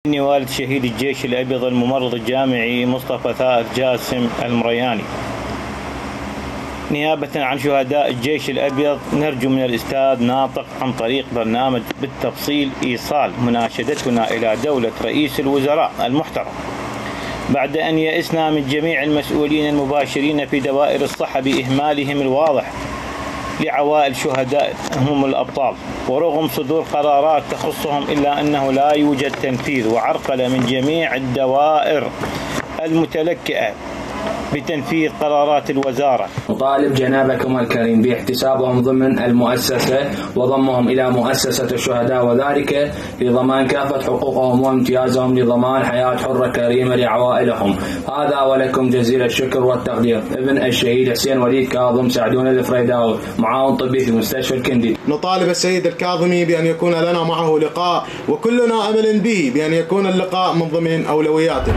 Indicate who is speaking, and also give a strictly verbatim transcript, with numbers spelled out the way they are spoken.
Speaker 1: إني والد شهيد الجيش الأبيض الممرض الجامعي مصطفى ثائر جاسم المرياني. نيابة عن شهداء الجيش الأبيض نرجو من الأستاذ ناطق عن طريق برنامج بالتفصيل إيصال مناشدتنا إلى دولة رئيس الوزراء المحترم بعد أن يئسنا من جميع المسؤولين المباشرين في دوائر الصحة بإهمالهم الواضح لعوائل شهداء هم الأبطال، ورغم صدور قرارات تخصهم إلا أنه لا يوجد تنفيذ وعرقلة من جميع الدوائر المتلكئة بتنفيذ قرارات الوزارة.
Speaker 2: نطالب جنابكم الكريم باحتسابهم ضمن المؤسسة وضمهم إلى مؤسسة الشهداء، وذلك لضمان كافة حقوقهم وامتيازهم لضمان حياة حرة كريمة لعوائلهم. هذا ولكم جزيل الشكر والتقدير. ابن الشهيد حسين وليد كاظم سعدون الفريداوي، معاون طبي في مستشفى الكندي.
Speaker 3: نطالب السيد الكاظمي بأن يكون لنا معه لقاء، وكلنا أمل به بأن يكون اللقاء من ضمن أولوياته.